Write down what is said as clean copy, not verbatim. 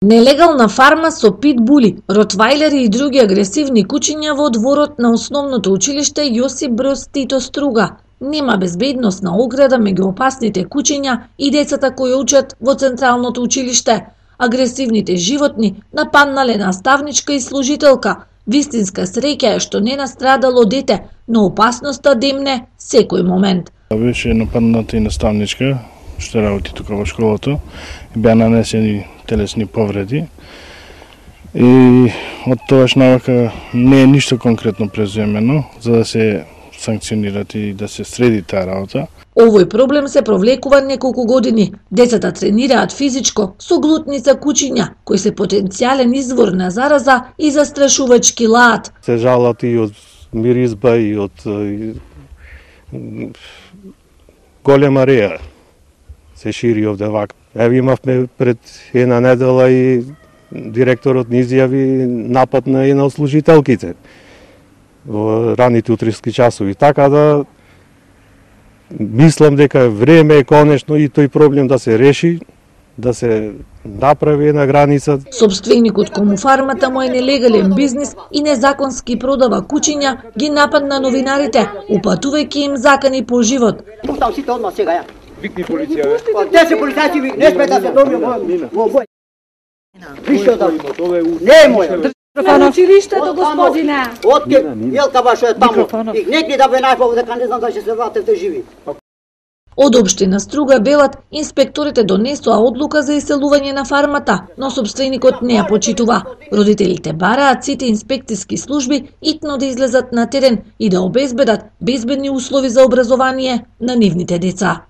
Нелегална фарма со питбули, ротвајлери и други агресивни кучиња во дворот на основното училиште Јосип Броз Тито Струга. Нема безбедносна ограда меѓу опасните кучиња и децата кои учат во централното училиште. Агресивните животни нападнале наставничка и служителка. Вистинска среќа е што не настрадало дете, но опасноста демне секој момент. Беше нападната и наставничка што работи тука во школата. Беа нанесени телесни повреди. И од тогаш навака не е ништо конкретно преземено за да се санкционират и да се среди таа работа. Овој проблем се провлекува неколку години. Децата тренираат физичко со глутница кучиња, кои се потенцијален извор на зараза и застрашувачки лаат. Се жалат и од миризба и од голема реја. Се шири овде вака. Еве имавме пред една недела и директорот ни изјави напад на една од служителките во раните утрески часови. Така да мислам дека време е конечно и тој проблем да се реши, да се направи една граница. Собственикот кому фармата му е нелегален бизнис и незаконски продава кучиња, ги нападна новинарите, упатувајќи им закани по живот. Пуштам сите одма сега ја. Викни полиција. Те се полицајци, не сме да се доби во бој. Виште да. Не мој. На училиштето, господине. Отке, Јелка башо е таму. И некли да ве најпов дека не знам да ќе се вратите живи. Од општина Струга Белат, инспекторите донесоа одлука за иселување на фармата, но собственикот не ја почитува. Родителите бараат сите инспекциски служби итно да излезат на терен и да обезбедат безбедни услови за образование на нивните деца.